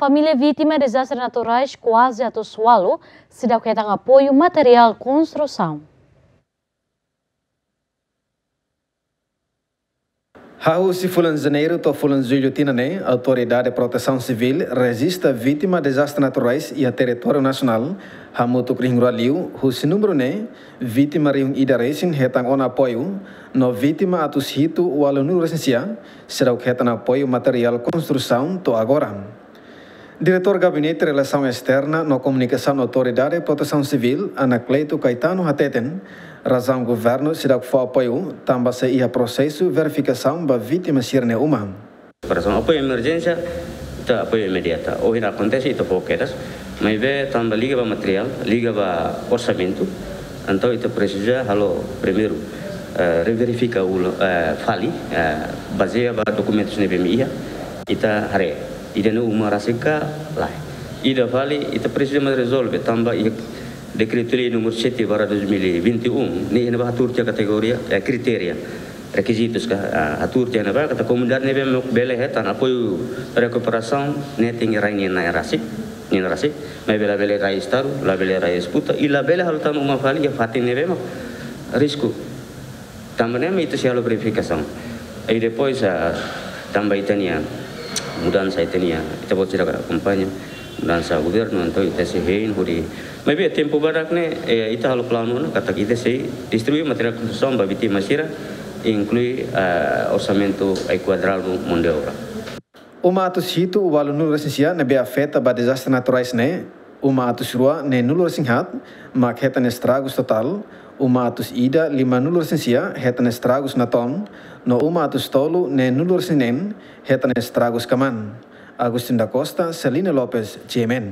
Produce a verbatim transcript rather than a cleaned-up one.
Família vítima dezastre naturais kuaze atus ualu seidauk hetan apoiu materiál konstrusaun. Hahú husi fulan Janeiru to'o fulan Jullu tinan ne'e, Autoridade Protesaun Sivíl rejista vítima dezastre naturais iha territóriu nasionál hamutuk rihun rua liu, husi númeru ne'e, vítima rihun ida resin hetan ona apoiu, no vítima atus hitu ualunulu resin sia seidauk hetan apoiu materiál konstrusaun to'o agora. Diretór Gabinete Relasaun Esterna no Komunikasaun Autoridade Protesaun Sivíl, Anacleto Caetano hateten, razaun governu seidauk fó apoiu tanba sei iha prosesu verifikasaun ba vítima sira-nia uma. Para apoiu emerjénsia, ita apoiu imediata. Ohin akontese, ita fó kedas, maibé tanba liga ba materiál, liga ba orsamentu, entaun ita presiza halo primeiru, eh, reverifika ulang, eh, fali, eh, bazeia ba dokumentus ne'ebé mak iha, ita haree ida-ne'e uma rasik ka lae. Ida fali, ita presiza mós rezolve tanba iha Dekretu-Lei númeru sete barra dois mil e vinte e um, ne'e iha ne'ebá hatuur tiha kategoria, eh, kritéria, rekizitus ka, ah, hatuur tiha ne'ebá katak komunidade ne'ebé mak bele hetan apoiu rekuperasaun ne'e tenke rai nia na'in rasik, nia na'in rasik, maibé labele rai Estadu, labele rai Eskuta, i labele halo tan uma fali iha fatin ne'ebé mak risku. Tanba ne'e mak ita sei halo verifikasaun. I depois, ah, tanba ita-nia mudansa, ita-nia, ita-boot sira akompaña mudansa governu, entaun ita sei hein hodi. Maibé tempu badak ne'e, eh, ita halo planu ona katak ita sei distribui materiál konstrusaun ba vítima sira, inklui, ah, orsamentu enkuadradu mão de obra. Uma atus hitu ualunulu resin sia ne'ebé afeta ba dezastre naturais ne'e, uma atus rua neenulu resin haat mak hetan estragus totál, uma atus ida limanulu resin sia hetan estragus natoon, no uma atus tolu neenulu resin neen hetan estragus kmaan. Agustin da Costa, Celina Lopes, G M N.